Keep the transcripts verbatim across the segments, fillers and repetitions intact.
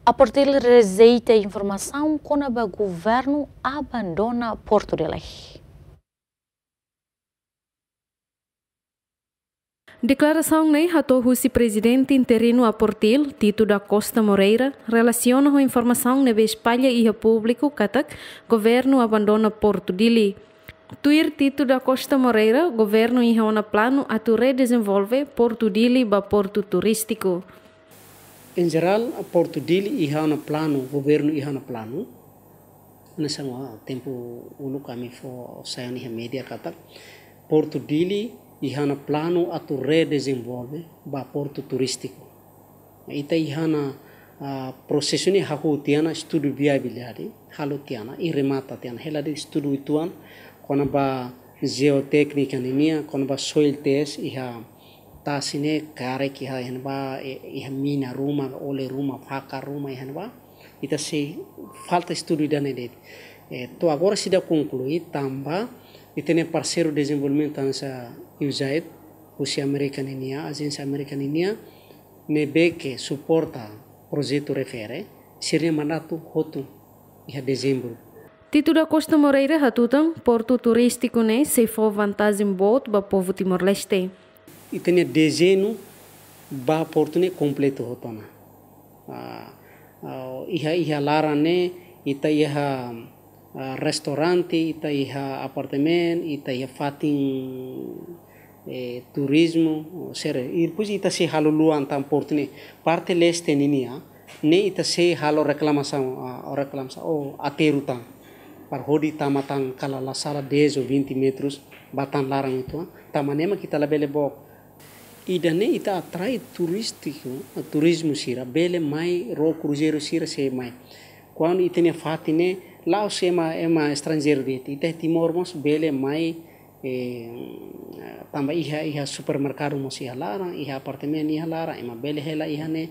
APORTIL rejeita informasaun kona-ba governu abandona Portu Dili. Deklarasaun ne'e hato'o husi Prezidente Interinu APORTIL, Tito da Costa Moreira, relasiona ho informasaun ne'ebé espalla iha públiku katak governu abandona Portu Dili. Tuir Tito da Costa Moreira, governu iha ona planu atu redezenvolve Portu Dili ba portu turístiku. Em geral, Portu Dili iha ona planu, governu iha ona planu. Hanesan tempu uluk ami fó sai ona iha média katak Portu Dili iha ona planu atu redezenvolve ba portu turístiku. Ita iha ona, ah, prosesu ne'e hahú tiha ona estudu viabilidade, halo tiha ona, i remata tiha ona. Hela de'it estudu uitoan, kona-ba jeotéknika ninian, kona-ba soil test, iha tasi ne'e karik iha, iha ne'ebá, i-, iha mina ruma, ole ruma, fakar ruma, iha ne'ebá. Ita sei falta estudu ida-ne'e de'it. Eh, to'o agora seidauk konklui, tanba ita-nia parseiru dezenvolvimentu hanesan U S A I D, husi Amérika ninian, ajénsia Amérika ninian, ne'ebé ke suporta projetu refere, sira-nia mandatu hotu iha dezembru. Tito da Costa Moreira hatutan, portu turístiku ne'e sei fó vantajen boot ba povu Timor-Leste. Ita-nia dezeñu ba portu ne'e kompletu hotu ona. Ah, ah, iha, iha laran ne'e, ita iha, ah, restaurante, ita iha apartamentu, ita iha fatin, eh, turizmu, sira. I depois ita sei halo luan tan portu ne'e. Parte leste ninian, ne'e ita sei halo reklamasaun, ah, reklamasaun, ou aterru tan. Para hodi tama tan kala la sala dez ou vinte metros, ba tan laran uitoan, tanba ne'e mak ita labele book. Ida-ne'e ita atrai turístiku, turizmu sira, bele mai, ró kruzeiru sira sei mai. Kuandu ita-nia fatin ne'e, la'ós ema, ema estranjeiru de'it, ita Timor mós bele mai, eh, tanba iha, iha supermerkadu mós iha laran, iha apartamentu iha laran, ema bele hela iha ne'e.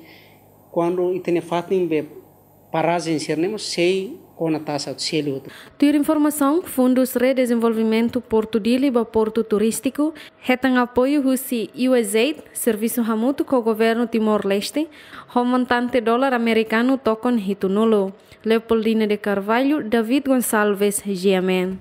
Kuandu ita-nia fatin be parajen sira-ne'e mós sei kona taxa selu hotu. Tuir informasaun, Fundus Redezenvolvimentu Portu Dili ba portu turístiku hetan apoiu husi U S A I D, servisu hamutuk ho governu Timor-Leste, ho montante dolar amerikanu tokon hitunulu. Leopoldina de Carvalho, David Gonçalves, G M N.